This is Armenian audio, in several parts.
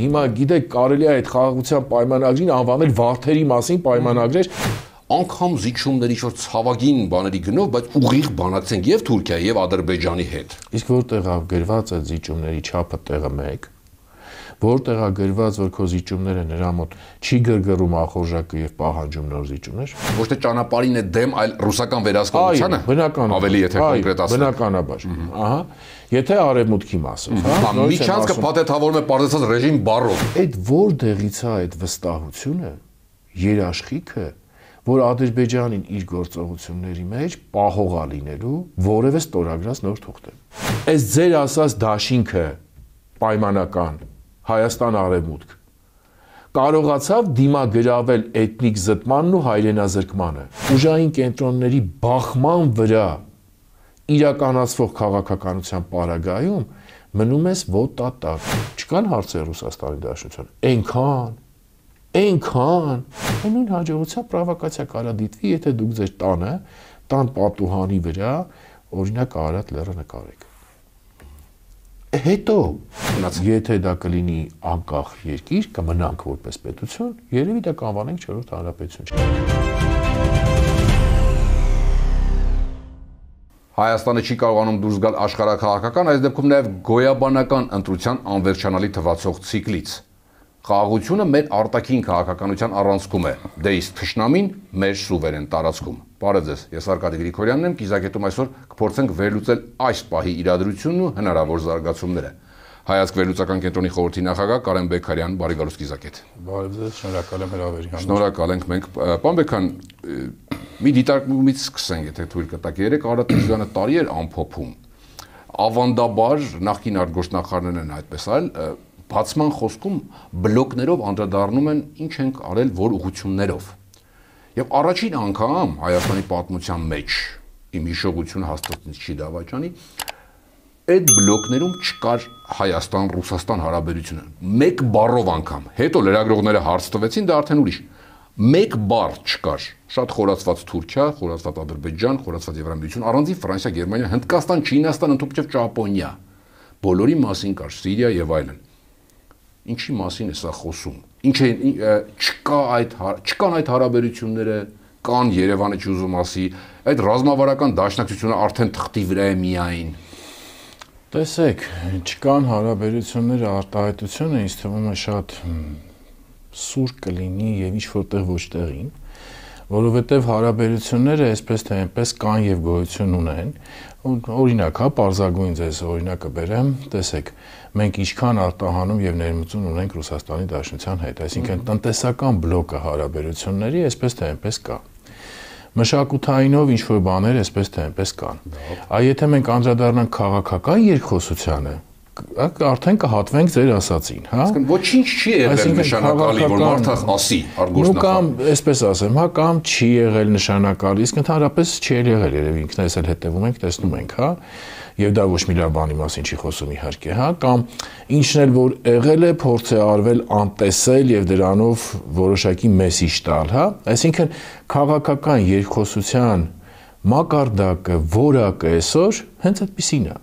Հիմա գիտեք, կարելի է այդ խաղաղության պայմանագրին անվանել վարդերի մասին պայմանագրեր, անգամ զիջումների շուտ ցավագին բաների գնով, բայց ուղիղ բանակցենք եւ Թուրքիայի եւ Ադրբեջանի հետ։ Իսկ որտեղ է գրված այդ զիջումների չափը տեղը մեկ, որտեղ է գրված, որ քո զիջումները նրա մոտ չի գրգռում ախորժակը եւ պահանջում նոր զիջումներ։ Ոչ թե ճանապարհին է դեմ, այլ ռուսական վերահսկողությանը։ Ավելի եթե կոնկրետացնենք։ Բնականաբար։ Ահա, եթե արևմուտքի մասով, հա։ Միջանցքը փաթեթավորում է պարզեցած ռեժիմ բառով։ Այդ որտեղից է այդ վստահությունը, երաշխիքը, որ Ադրբեջանին իր գործողությունների մեջ պահող է լինելու որևէ ստորագրած նոր թուղթ։ Այս ձեր ասած դաշինքը պայմանական Հայաստան արևմուտք կարողացավ դիմագրավել էթնիկ զտմանն ու հայրենազրկմանը։ Ուժային կենտրոնների բախման վրա իրականացվող քաղաքականության պարագայում մնում ես ոտատակ։ Չկան հարցեր Ռուսաստանի Դաշնության։ Այնքան նույն հաջողությամբ պրովոկացիա կարա դիտվի, եթե դուք ձեր տան պատուհանի վրա օրինակ Արարատ լեռը նկարեք։ Հետո, եթե դա կլինի անկախ երկիր, կմնանք որպես պետություն, երևի դա կանվանենք 4-րդ հանրապետություն։ Հայաստանը չի կարողանում դուրս գալ աշխարհաքաղաքական, այս դեպքում նաև գոյաբանական ընտրության անվերջանալի թվացող ցիկլից։ Խաղաղությունը մեր արտաքին քաղաքականության առանցքում է, դե իսկ թշնամին մեր սուվերեն տարածքում։ Բարև ձեզ, ես Արկադի Գրիգորյանն եմ, կիզակետում այսօր կփորձենք վերլուծել այս պահի իրադրությունն ու հնարավոր զարգացումները։ Հայացք վերլուծական կենտրոնի խորհրդի նախագահ Կարեն Բեկարյան, բարի գալուստ կիզակետ։ Բարև ձեզ, շնորհակալ եմ հրավերի համար։ Շնորհակալ ենք մենք։ Պարոն Բեկարյան, մի դիտարկումից սկսենք, եթե թույլ կտաք։ Երեք Արարատ Միրզոյանը տարի էր ամփոփում։ Ավանդաբար նախկին արտգործնախարարներն են այդպես այլ բացման խոսքում բլոկներով անդրադառնում են ինչ ենք արել որ ուղղություններով։ Եվ առաջին անգամ Հայաստանի պատմության մեջ իմ հիշողությունը հաստատից չի դավաճանի, այդ բլոկներում չկար Հայաստան-Ռուսաստան հարաբերությունը։ Մեկ բառով անգամ, հետո լրագրողները հարց տվեցին, դա արդեն ուրիշ։ Մեկ բառ չկար։ Շատ խորացված Թուրքիա, խորացված Ադրբեջան, խորացված Եվրամիություն, առանձին Ֆրանսիա, Գերմանիա, Հնդկաստան, Չինաստան, ընդհանրապես Ճապոնիա։ Բոլորի մասին կար Սիրիա եւ այլն։ Ինչի մասին է սա խոսում։ Ինչ է չկան այդ հարաբերությունները, կան Երևանը չուզում ասի, այդ ռազմավարական դաշնակցությունը արդեն թղթի վրա է միայն։ Տեսեք, չկան հարաբերությունները արտահայտությունը ինձ թվում է շատ սուր կլինի եւ ինչ որտեղ ոչ տեղին, որովհետեւ հարաբերությունները այսպես թե այնպես կան եւ գոյություն ունեն։ Օրինակ, հա, պարզագույն ձեզ օրինակը բերեմ, տեսեք, մենք ինչքան արտահանում եւ ներմուծում ունենք Ռուսաստանի Դաշնության հետ, այսինքն տնտեսական բլոկը հարաբերությունների այսպես թե այնպես կա։ Մշակութայինով ինչ որ բաներ այսպես թե այնպես կան։ Այ եթե մենք անդրադառնանք քաղաքական երկխոսությանը, արդեն կհատվենք ձեր ասածին, հա։ Այսինքն ոչինչ չի եղել նշանակալի, որ մարդը ասի արտգործնախարար։ Կամ այսպես ասեմ, հա, կամ չի եղել նշանակալի, իսկ ընդհանրապես չի եղել, երևի ինքներս էլ հետևում ենք, տեսնում ենք, հա։ Եվ դա ոչ մի լավ բանի մասին չի խոսում իհարկե, հա, կամ ինչն էլ որ եղել է, փորձ է արվել անտեսել եւ դրանով որոշակի մեսիջ տալ, հա։ Այսինքն քաղաքական երկխոսության մակարդակը, որակը այսօր հենց այդպեսին է։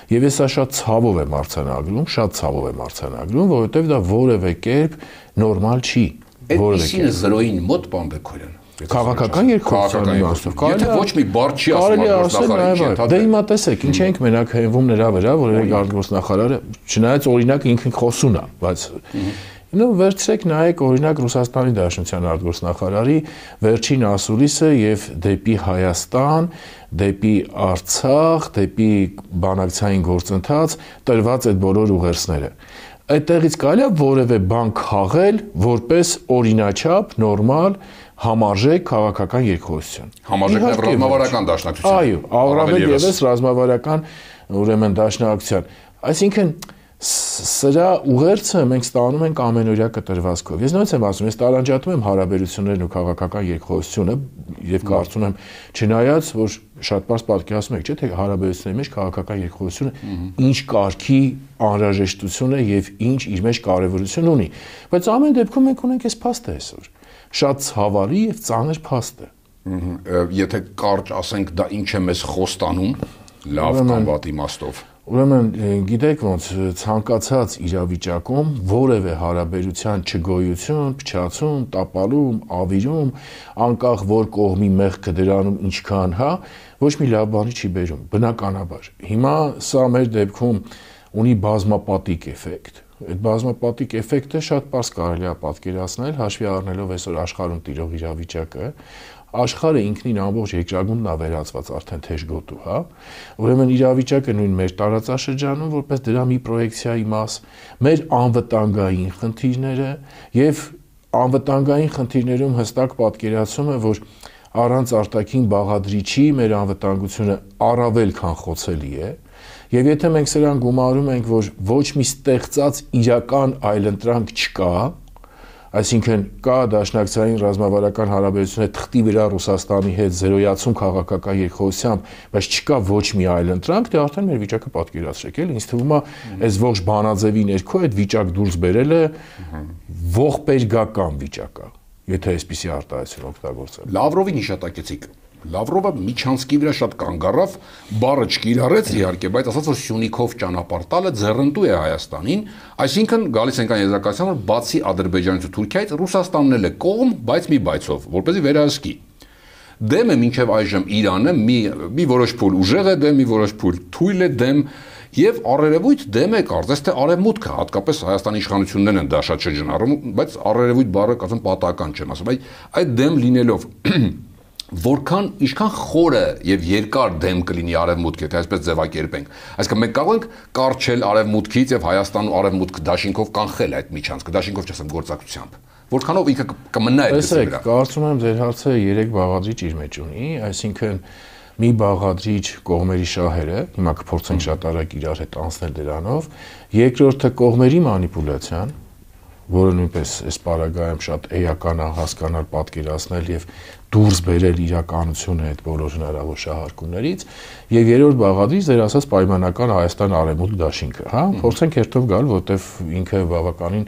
Եվ ես սա շատ ցավով եմ արձանագրում, որովհետև դա որևէ կերպ նորմալ չի։ Այդպիսին է զրոյին մոտ, պարոն Բեկարյան։ Քաղաքական երկխոսության իմաստով։ Եթե ոչ մի բառ չի ասում արտգործնախարարը, դե հիմա տեսեք, ինչ ենք մենակ հենվում նրա վրա, որ արտգործնախարարը, չնայած օրինակ ինքն խոսուն է, բայց վերցրեք նայեք օրինակ Ռուսաստանի Դաշնության արտգործնախարարի վերջին ասուլիսը եւ դեպի Հայաստան, դեպի Արցախ, դեպի բանակցային գործընթաց տրված այդ բոլոր ուղերձները։ Այդտեղից կարելի է որևէ բան քաղել որպես օրինաչափ, նորմալ, համարժեք քաղաքական երկխոսություն։ Համարժեք եւ ռազմավարական դաշնակցություն։ Այո, առավել եւս ռազմավարական ուրեմն դաշնակցության։ Այսինքն սրա ուղերձը մենք ստանում ենք ամենօրյա կտրվածքով։ Ես նույնպես եմ ասում, ես տարանջատում եմ հարաբերություններն ու քաղաքական երկխոսությունը եւ կարծում եմ, չնայած որ շատ բարձ պատկերացնում եք, չէ՞ թե հարաբերությունների մեջ քաղաքական երկխոսությունը ինչ կարգի անհրաժեշտություն է եւ ինչ իր մեջ կարեւորություն ունի։ Բայց ամեն դեպքում մենք ունենք այս փաստը այսօր։ Շատ ցավալի եւ ծանր փաստ է։ Եթե կարճ ասենք, դա ինչ է մեզ խոստանում, լավ կամ վատ իմաստով։ Ուրեմն գիտեք ոնց ցանկացած իրավիճակում որևէ հարաբերության չգոյություն, փչացում, տապալում, ավիրում, անկախ որ կողմի մեղքը դրանում ինչքան, ոչ մի լավ բանի չի բերում, բնականաբար։ Հիմա սա մեր դեպքում ունի բազմապատիկ էֆեկտ։ Այդ բազմապատիկ էֆեկտը շատ պարզ կարելի է պատկերացնել, հաշվի առնելով այսօր աշխարհում տիրող իրավիճակը, աշխարհը ինքնին ամբողջ երկրագունդն է վերածված արդեն թեժ գոտու, Ուրեմն իրավիճակը նույն մեր տարածաշրջանում որպես դրա մի պրոյեկցիայի մաս, մեր անվտանգային խնդիրները եւ անվտանգային խնդիրներում հստակ պատկերացում է, որ առանց արտաքին բաղադրիչի մեր անվտանգությունը առավել քան խոցելի է։ Եվ եթե մենք սրան գումարում ենք, որ ոչ մի ստեղծած իրական այլընտրանք չկա, այսինքն կա դաշնակցային ռազմավարական հարաբերություններ թղթի վրա Ռուսաստանի հետ զրոյացում քաղաքական երկխոսությամբ, բայց չկա ոչ մի այլընտրանք, դե արդեն մեր վիճակը պատկերացրեք, էլի ինձ թվում է, այս ողջ բանաձևի ներքո այդ վիճակ դուրս բերելը ողբերգական վիճակ է, եթե այսպիսի արտահայտություն օգտագործել։ Լավրովին հիշատակեցիք։ Լավրովը Միչանսկի վրա շատ կանգ առավ, բառը չկիրառեց իհարկե, բայց ասաց, որ Սյունիքով ճանապարհ տալը ձեռնտու է Հայաստանին, այսինքն գալիս ենք այն եզրակացության, որ բացի Ադրբեջանից ու Թուրքիայից Ռուսաստանն էլ է կողմ, բայց մի բայցով, որպեսզի վերահսկի։ Դեմ է մինչև այժմ Իրանը, մի որոշ փուլ ուժեղ է դեմ, մի որոշ փուլ թույլ է դեմ, եւ առերևույթ դեմ է կարծես թե արևմուտքը, հատկապես Հայաստանի իշխանություններն են դա շատ շրջանառում, բայց առերևույթ բառը կասեմ պատահական չեմ ասում, այդ դեմ լինելով որքան ինչքան խորը եւ երկար դեմ կլինի արևմուտքը, եթե այսպես ձևակերպենք։ Այսինքն մենք կարող ենք կարճել արևմուտքից եւ Հայաստան ու արևմուտք դաշինքով կանխել այդ միջանցքը, դաշինքով չասեմ գործակցությամբ։ Որքանով ինքը կմնա այդ դեպքում։ Տեսեք, կարծում եմ ձեր հարցը 3 բաղադրիչ իր մեջ ունի, այսինքն մի բաղադրիչ կողմերի շահերը, հիմա կփորձենք շատ արագ իրար հետ անցնել դրանով, երկրորդը կողմերի մանիպուլյացիան, որը նույնպես այս պարագայում շատ էական է հասկանալ, պատկերացնել եւ դուրս բերել իրականությունը այդ բոլոր հնարավոր շահարկումներից, եւ երրորդ բաղադրիչ ձեր ասած պայմանական Հայաստան արևմուտք դաշինքը, փորձենք հերթով գալ, որտեվ ինքը բավականին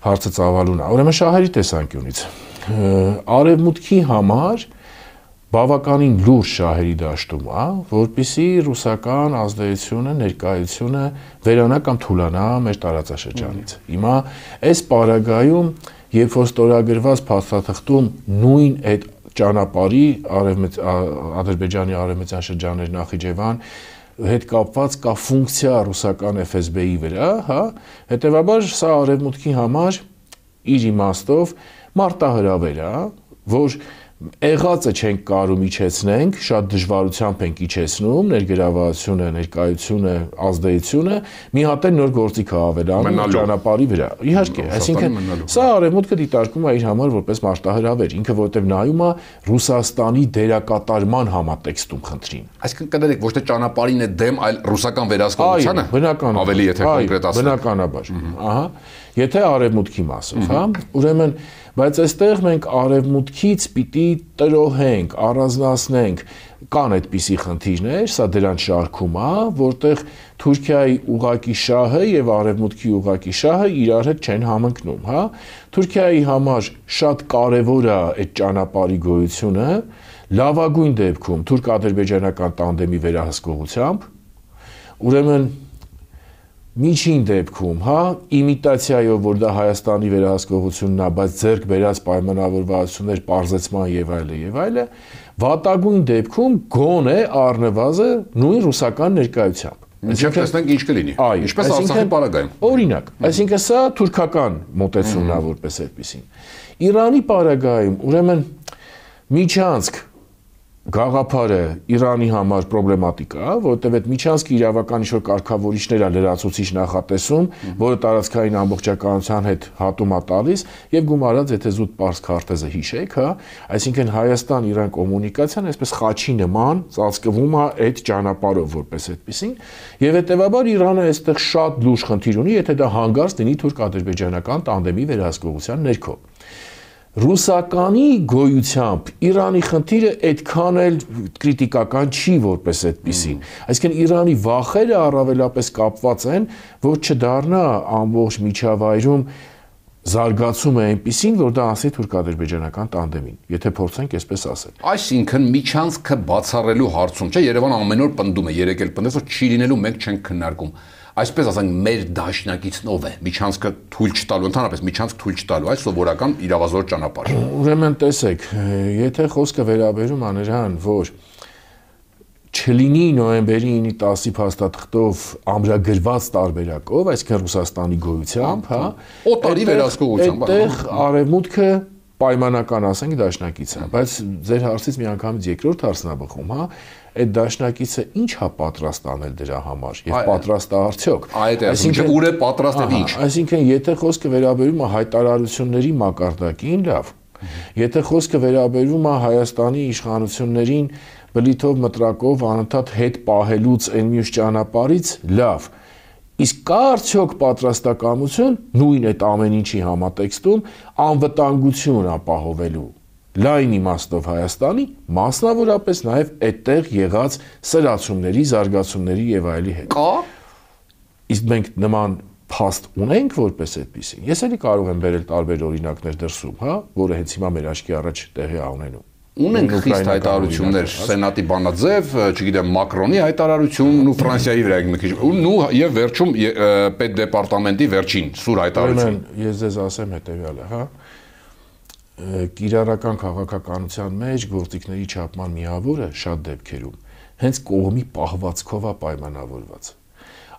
հարցը ծավալուն է։ Ուրեմն շահերի տեսանկյունից արևմուտքի համար բավականին լուրջ շահերի դաշտում է, որպեսզի ռուսական ազդեցությունը, ներկայությունը վերանա կամ թուլանա մեր տարածաշրջանից։ Հիմա այս պարագայում, երբ որ ստորագրված փաստաթղթում նույն այդ ճանապարհի Ադրբեջանի արևմտյան շրջաններ Նախիջևան հետ կապված կա ֆունկցիա ռուսական FSB-ի վրա, հետեւաբար սա արևմուտքի համար իր իմաստով մարտահրավեր է, որ եղածը չենք կարում իջեցնենք, շատ դժվարությամբ ենք իջեցնում, ներգրավվածությունը, ներկայությունը, ազդեցությունը, մի հատ էլ նոր գործիք ավելանում ճանապարհի վրա։ Իհարկե, այսինքն սա արևմուտքը դիտարկում է իր համար որպես մարտահրավեր, ինքը որտեղ նայում է Ռուսաստանի դերակատարման համատեքստում խնդրին։ Այսինքն կներեք, ոչ թե ճանապարհին է դեմ, այլ ռուսական վերահսկողությանը։ Ավելի եթե կոնկրետ ասենք։ Բնականաբար։ Ահա, եթե արևմուտքի մասով, ուրեմն բայց այստեղ մենք արևմուտքից պիտի տրոհենք, առանձնացնենք, կան այդպիսի խնդիրներ, սա դրանց շարքում է, որտեղ Թուրքիայի ուղակի շահը եւ արևմուտքի ուղակի շահը իրար հետ չեն համընկնում, Թուրքիայի համար շատ կարեւոր է այդ ճանապարհի գոյությունը, լավագույն դեպքում թուրք-ադրբեջանական տանդեմի վերահսկողությամբ, ուրեմն միջին դեպքում, իմիտացիայով, որ դա Հայաստանի վերահսկողությունն է, բայց ձեռք բերած պայմանավորվածություններ, պարզեցման եւ այլը, վատագույն դեպքում գոնե առնվազն նույն ռուսական ներկայությամբ։ Ինչպես տեսնենք ինչ կլինի։ Ինչպես Արցախի պարագայում։ Օրինակ, այսինքն սա թուրքական մոտեցումն է որպես այդպեսին։ Իրանի պարագայում, ուրեմն միջանցք գաղափարը Իրանի համար պրոբլեմատիկ է, որովհետև այդ միջանցքի իրավական ինչ-որ կարգավորիչներ է լրացուցիչ նախատեսում, որը տարածքային ամբողջականության հետ հատում է տալիս եւ գումարած, եթե զուտ պարզ քարտեզը հիշեք, այսինքն Հայաստան-Իրան կոմունիկացիան այսպես խաչի նման ծածկվում է այդ ճանապարհով որպես այդպեսին, եւ հետեւաբար Իրանը այստեղ շատ լուրջ խնդիր ունի, եթե դա հանգարց լինի թուրք-ադրբեջանական տանդեմի վերահսկողության ներքո։ Ռուսականի գոյությամբ Իրանի խնդիրը այդքան էլ կրիտիկական չի որպես այդպիսին։ Այսինքն Իրանի վախերը առավելապես կապված են, որ չդառնա ամբողջ միջավայրում զարգացում է այնպիսին, որ դա անցնի թուրք-ադրբեջանական տանդեմին, եթե փորձենք այսպես ասել։ Այսինքն միջանցքը բացառելու հարցում, չէ, Երևանը ամեն օր պնդում է, երեք էլ պնդեց, որ չի լինելու, մենք չենք քննարկում։ Այսպես ասենք, մեր դաշնակիցն ով է, միջանցքը թույլ չտալու, ընդհանրապես միջանցք թույլ չտալու, այս սովորական իրավազոր ճանապարհ։ Ուրեմն տեսեք, եթե խոսքը վերաբերում է նրան, որ չլինի նոյեմբերի 9-ի 10-ի փաստաթղթով ամրագրված տարբերակով, այսինքն Ռուսաստանի գոյությամբ, հա, օտարի վերահսկողությամբ, այդտեղ արևմուտքը պայմանական ասենք դաշնակից է, բայց ձեր հարցից միանգամից երկրորդ հարցն է բխում, հա, այդ դաշնակիցը ինչ է պատրաստ անել դրա համար եւ պատրաստ է արդյոք։ Այսինքն ուր է պատրաստ եւ ինչ։ Այսինքն եթե խոսքը վերաբերում է հայտարարությունների մակարդակին, լավ։ Եթե խոսքը վերաբերում է Հայաստանի իշխանություններին բլիթով մտրակով անընդհատ հետ պահելուց այն մյուս ճանապարհից, լավ։ Իսկ կա արդյոք պատրաստակամություն նույն այդ ամեն ինչի համատեքստում անվտանգություն ապահովելու լայն իմաստով Հայաստանի, մասնավորապես նաև այդտեղ եղած սրացումների, զարգացումների եւ այլի հետ։ Կա։ Իսկ մենք նման փաստ ունենք որպես այդպեսին։ Ես էլի կարող եմ բերել տարբեր օրինակներ դրսում, հա, որը հենց հիմա մեր աչքի առաջ տեղի է ունենում։ Ունենք խիստ հայտարարություններ, Սենատի բանաձև, չգիտեմ, Մակրոնի հայտարարությունն ու Ֆրանսիայի վրա մի քիչ ու եւ վերջում պետդեպարտամենտի վերջին սուր հայտարարություն։ Ես ձեզ ասեմ հետեւյալը, հա։ Կիրառական քաղաքականության մեջ գործիքների չափման միավորը շատ դեպքերում հենց կողմի պահվածքով է պայմանավորված։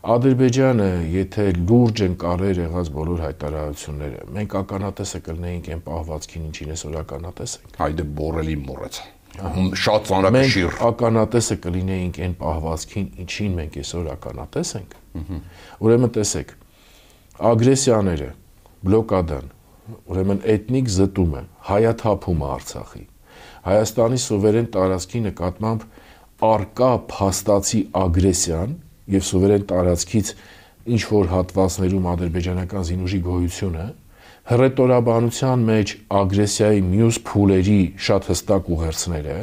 Ադրբեջանը, եթե լուրջ են կարեր եղած բոլոր հայտարարությունները, մենք ականատեսը կլինեինք այն պահվածքին, ինչին այսօր ականատես ենք։ Հայդե բորելի մոռացա։ Շատ ծանրակշիռ։ Մենք ականատեսը կլինեինք այն պահվածքին, ինչին մենք այսօր ականատես ենք։ Ուրեմն տեսեք, ագրեսիաները, բլոկադան, ուրեմն էթնիկ զտումը, հայաթափումը Արցախի, Հայաստանի սուվերեն տարածքի նկատմամբ արկա փաստացի ագրեսիան եւ սուվերեն տարածքից ինչ որ հատվածներում ադրբեջանական զինուժի գոյությունը հռետորաբանության մեջ ագրեսիայի մյուս փուլերի շատ հստակ ուղերձները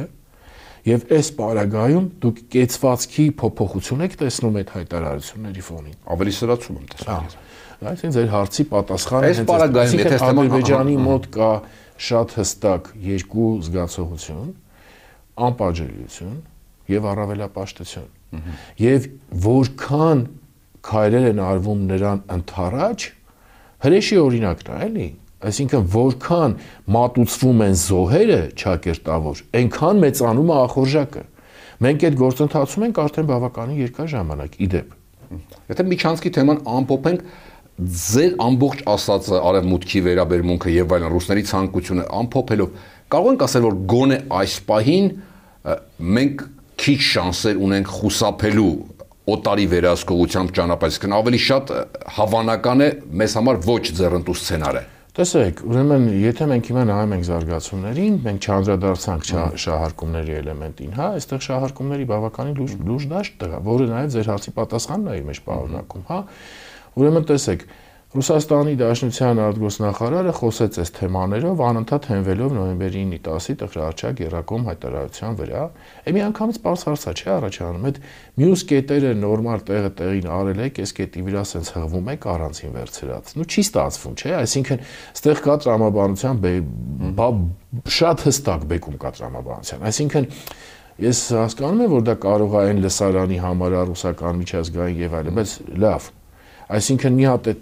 եւ այս պարագայում դուք կեցվածքի փոփոխություն եք տեսնում այդ հայտարարությունների ֆոնին։ Ավելի սրացում եմ տեսնում։ Այսինքն ձեր հարցի պատասխանը այս պարագայում եթե Ադրբեջանի մոտ կա շատ հստակ երկու զգացողություն, անպատժելիություն եւ առավելապաշտություն։ Եվ որքան քայլեր են արվում նրան ընթառաջ, հրեշի օրինակն է, էլի։ Այսինքն որքան մատուցվում են զոհերը ճակերտավոր, այնքան մեծանում է ախորժակը։ Մենք այդ գործընթացում ենք արդեն բավականին երկար ժամանակ, իդեպ։ Եթե միջանցքի թեման ամփոփենք, ձեր ամբողջ ասածը արևմուտքի վերաբերմունքը եւ այլն ռուսների ցանկությունը ամփոփելով կարող ենք ասել որ գոնե այս պահին մենք քիչ շանսեր ունենք խուսափելու օտարի վերահսկողությամբ ճանապարհից, քան ավելի շատ հավանական է մեզ համար ոչ ձեռնտու սցենարը։ Տեսեք, ուրեմն եթե մենք հիմա նայում ենք զարգացումներին, մենք չանդրադարձանք շահարկումների էլեմենտին, հա, այստեղ շահարկումների բավականին լուրջ դաշտ կա, որը նաև ձեր հարցի պատասխանն է իր մեջ պարունակում, հա։ Ուրեմն տեսեք, Ռուսաստանի Դաշնության արտգործնախարարը խոսեց այս թեմաներով անընդհատ հենվելով նոյեմբերի 9-ի 10-ի տխրահարչակ Երակոմ հայտարարության վրա։ Մի անգամից պարզ հարցա չէ առաջանում, այդ մյուս կետերը նորմալ տեղին արել եք, այս կետի վրա սենց հղվում եք առանցին վերցրած։ Նու չի ստացվում, չէ՞, այսինքն ստեղ կա տրամաբանության շատ հստակ բեկում կա տրամաբանության։ Այսինքն ես հասկանում եմ, որ դա կարող է այն լսարանի համար ռուսական միջազգային եւ այլն, բայց լավ։ Այսինքն մի հատ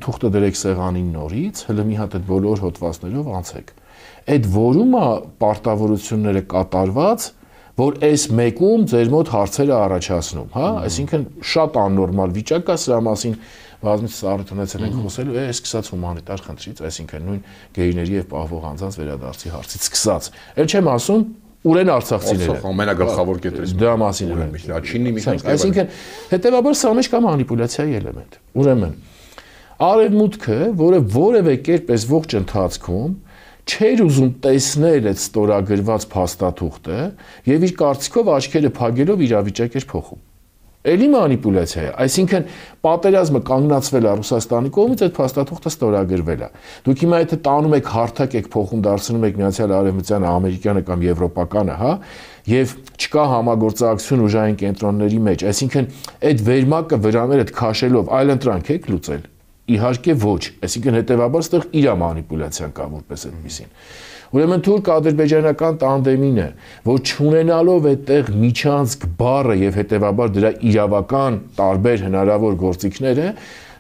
թուղթը դրեք սեղանին նորից, հələ մի հատ այդ բոլոր հոդվածներով անցեք։ Այդ որում է պարտավորությունները կատարված, որ այս մեկում ձեր մոտ հարցերը առաջացնում, հա, այսինքն շատ աննորմալ վիճակ է, սրա մասին բազմիցս առիթ ունեցել ենք խոսելու, սկսած հումանիտար խնդրից, այսինքն նույն գեյների եւ պահվող անձանց վերադարձի հարցից սկսած։ Էլ չեմ ասում Ուրեն արցախցիները։ Ամենագլխավոր կետերից։ Դա մասին եմ Լաչինի միջանցք։ Այսինքն, հետեւաբար սա մեջ կա մանիպուլյացիայի էլեմենտ։ Ուրեմն, արևմուտքը, որը որևէ կերպ այս ողջ ընթացքում չէր ուզում տեսնել այդ ստորագրված փաստաթուղթը եւ իր կարծիքով աչքերը փակելով իրավիճակ էր փոխում։ Էլի մանիպուլյացիա է, այսինքն պատերազմը կանգնացվել է Ռուսաստանի կողմից, այդ փաստաթուղթը ստորագրվել է։ Դուք հիմա եթե տանում եք հարթակ եք փոխում, դարձնում եք Միացյալ Արևմտյանը, ամերիկյանը կամ եվրոպականը, հա, եւ չկա համագործակցություն ուժային կենտրոնների մեջ, այսինքն այդ վերմակը վրաները քաշելով այլընտրանք եք լուծել։ Իհարկե ոչ, այսինքն հետևաբար այդտեղ իր մանիպուլյացիան կա որպես այդպեսին։ Ուրեմն թուրք-ադրբեջանական տանդեմին է, որ չունենալով այդտեղ միջանցք բառը եւ հետևաբար դրա իրավական տարբեր հնարավոր գործիքները,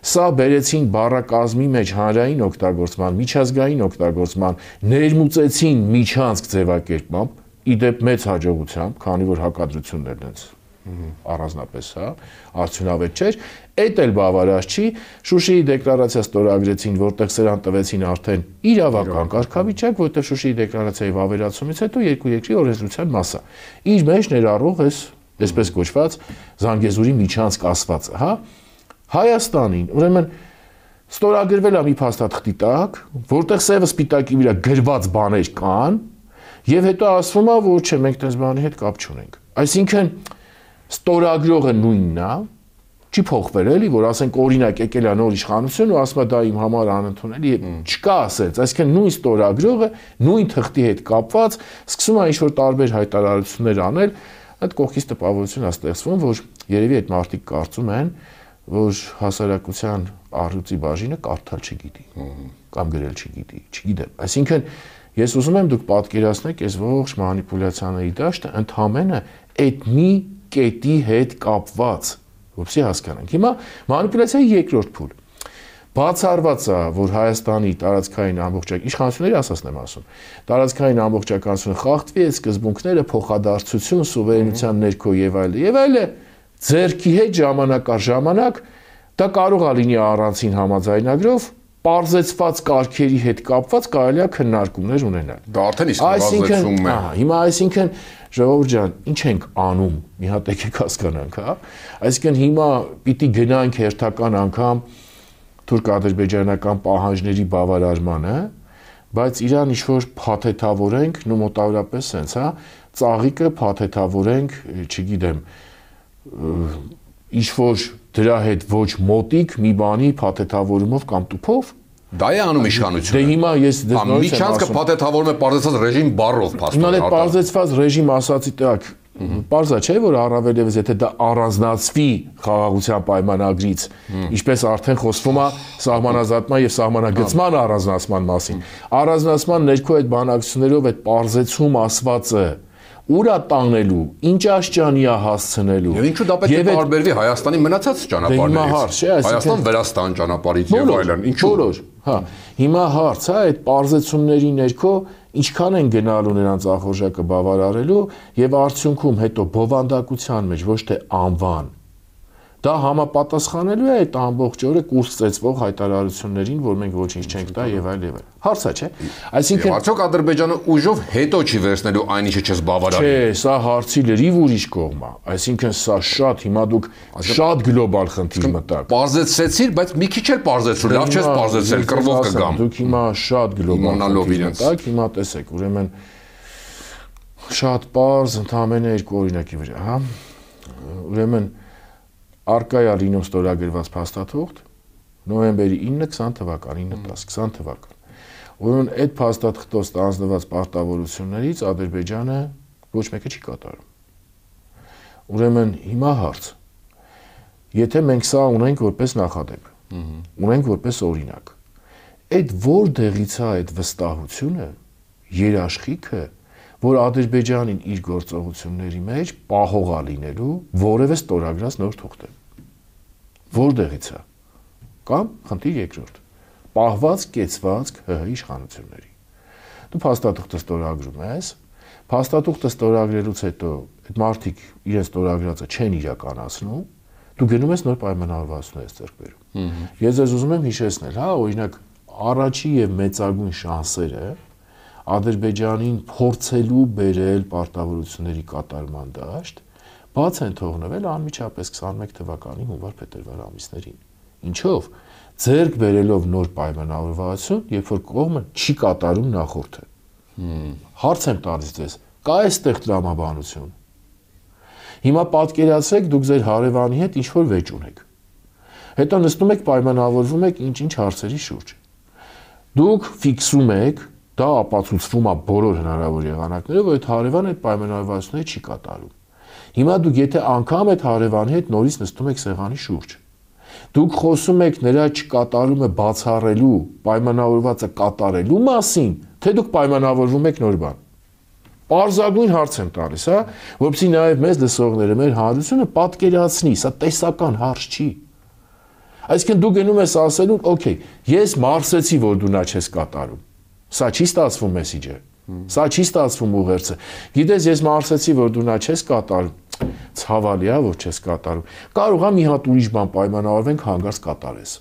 սա բերեցին բառակազմի մեջ հանրային օգտագործման, միջազգային օգտագործման, ներմուծեցին միջանցք ձևակերպմամբ, իդեպ մեծ հաջողությամբ, քանի որ հակադրություններն դենց առանձնապես, արդյունավետ չէր, այդ էլ բավարար չի, Շուշիի դեկլարացիա ստորագրեցին, որտեղ սրան տվեցին արդեն իրավական կարգավիճակ, որտեղ Շուշիի դեկլարացիայի վավերացումից հետո երկու երկրի օրենսդրության մասը իր մեջ ներառող այսպես կոչված Զանգեզուրի միջանցք ասվածը, հա, Հայաստանին, ուրեմն ստորագրվել է մի փաստաթղթի տակ, որտեղ սևը սպիտակի վրա գրված բաներ կան, եւ հետո ասվում է, որ չէ, մենք դες բանի հետ կապ չունենք։ Այսինքն ստորագրողը նույնն է, չի փոխվել էլի, որ ասենք օրինակ եկել է նոր իշխանություն ու ասում է դա իմ համար անընդունելի է, չկա ասած, այսինքն նույն ստորագրողը նույն թղթի հետ կապված սկսում է ինչ-որ տարբեր հայտարարություններ անել, այդ կողքից տպավորություն է ստեղծվում, որ երևի այդ մարդիկ կարծում են, որ հասարակության առյուծի բաժինը կարդալ չգիտի կամ գրել չգիտի, չգիտեմ։ Այսինքն ես ուզում եմ դուք պատկերացնեք այս ողջ մանիպուլյացիաների դաշտը ընդհանրապես այդ մի կետի հետ կապված, որպեսզի հասկանանք։ Հիմա մանիպուլյացիայի երկրորդ փուլ։ Բացառված է, որ Հայաստանի տարածքային ամբողջական իշխանությունների ասածն եմ ասում, տարածքային ամբողջականությունը խախտվի, այդ սկզբունքները փոխադարձություն, սուվերենության ներքո եւ այլը, ձերքի հետ ժամանակ առ ժամանակ դա կարող է լինի առանցին համաձայնագրով պարզեցված կարգերի հետ կապված կարելի է քննարկումներ ունենալ։ Դա արդեն իսկ նվազեցում է։ Հիմա այսինքն ժողովուրդ ջան, ինչ ենք անում, մի հատ եկեք հասկանանք, հա։ Այսինքն հիմա պիտի գնանք հերթական անգամ թուրք-ադրբեջանական պահանջների բավարարմանը, բայց իրան ինչ-որ փաթեթավորենք, նո մոտավորապես sense, հա, ծաղիկը փաթեթավորենք, չգիտեմ, ինչ-որ դրա հետ ոչ մոտիկ մի բանի փաթեթավորումով կամ տուփով դա է անում իշխանությունը։ Դե հիմա ես դες նորից եմ միջանցքը փաթեթավորում է պարզեցված ռեժիմ բառով փաստորեն։ Հիմա այդ պարզեցված ռեժիմ ասացի տակ պարզա չէ որ առավելևս եթե դա առանձնացվի խաղաղության պայմանագրից, ինչպես արդեն խոսվում է սահմանազատման եւ սահմանագծման առանձնացման մասին։ Առանձնացման ներքո այդ բանակցություններով այդ պարզեցում ասվածը ուրա տանելու, ինչ աշճանի է հասցնելու։ Եվ ինչու դա պետք է տարբերվի Հայաստանի մնացած ճանապարհներից։ Հայաստան-Վրաստան ճանապարհից եւ այլն։ Ինչու՞։ Հա, հիմա հարց է այդ պարզեցումների ներքո ինչքան են գնալու նրանց ախորժակը բավարարելու եւ արդյունքում հետո բովանդակության մեջ ոչ թե անվան դա համապատասխանելու է այդ ամբողջ օրը կուրս ծեծվող հայտարարություններին, որ մենք ոչինչ չենք տա եւ այլ եւ այլ։ Հարցա չէ։ Այսինքն արդյոք Ադրբեջանը ուժով հետո չի վերցնելու այն ինչը չես բավարարի։ Չէ, սա հարցի լրիվ ուրիշ կողմ է։ Այսինքն սա շատ հիմա դուք շատ գլոբալ խնդիր մտաք։ Պարզեցրեցիր, բայց մի քիչ էլ պարզեցրու, լավ չես պարզեցրել, կռվով կգամ։ Դուք հիմա շատ գլոբալ մտաք, հիմա տեսեք, ուրեմն շատ պարզ ընդհանրապես երկու օրինակի վրա, հա։ Ուրեմն Արկա է լինում ստորագրված փաստաթուղթ նոյեմբերի 9-20 թվական, 9-10-20 թվական։ Ուրեմն այդ փաստաթղթով ստանձնված պարտավորություններից Ադրբեջանը ոչ մեկը չի կատարում։ Ուրեմն հիմա հարց. Եթե մենք սա ունենք որպես նախադեպ, ունենք որպես օրինակ, այդ որտեղից է այդ վստահությունը, երաշխիքը, որ Ադրբեջանին իր գործողությունների մեջ պահող է լինելու որևէ ստորագրած նոր թուղթ է։ Որտեղից է։ Կամ խնդիր երկրորդ։ Պահված, կեցված ՀՀ իշխանությունների։ Դու փաստաթուղթը ստորագրում ես, փաստաթուղթը ստորագրելուց հետո այդ մարդիկ իրենց ստորագրածը չեն իրականացնում, դու գնում ես նոր պայմանավորվածություններ ձեռք բերում։ Ես ձեզ ուզում եմ հիշեցնել, հա, օրինակ առաջի եւ մեծագույն շանսերը Ադրբեջանին փորձելու բերել պարտավորությունների կատարման դաշտ բաց են թողնվել անմիջապես 21 թվականի հունվար-փետրվար ամիսներին։ Ինչով ձեռք բերելով նոր պայմանավորվածություն, երբ որ կողմը չի կատարում նախորդը։ Հարց եմ տալիս ձեզ, կա այստեղ տրամաբանություն։ Հիմա պատկերացրեք դուք ձեր հարևանի հետ ինչ-որ վեճ ունեք։ Հետո նստում եք պայմանավորվում եք ինչ-ինչ հարցերի շուրջ։ Դուք ֆիքսում եք դա ապացուցվում է բոլոր հնարավոր եղանակներով, որ այդ հարևանը այդ պայմանավորվածությունները չի կատարում։ Հիմա դուք եթե անգամ այդ հարևանի հետ նորից նստում եք սեղանի շուրջ, Դուք խոսում եք նրա չկատարումը բացառելու, պայմանավորվածը կատարելու մասին, թե դուք պայմանավորվում եք նոր բան։ Պարզագույն հարց եմ տալիս, հա, որովհետեւ նաև մեզ լսողները մեր հանրությունը պատկերացնի, սա տեսական հարց չի։ Այսինքն դու գնում ես ասելու, օքեյ, ես մարսեցի, որ դու նա չես կատարում։ Սա չի ստացվում մեսիջը։ Սա չի ստացվում ուղերձը։ Գիտես, ես մարսեցի, որ դու նա չես կատարում։ Ցավալի է, որ չես կատարում։ Կարող է մի հատ ուրիշ բան պայմանավորվենք, հանգարց կատարես։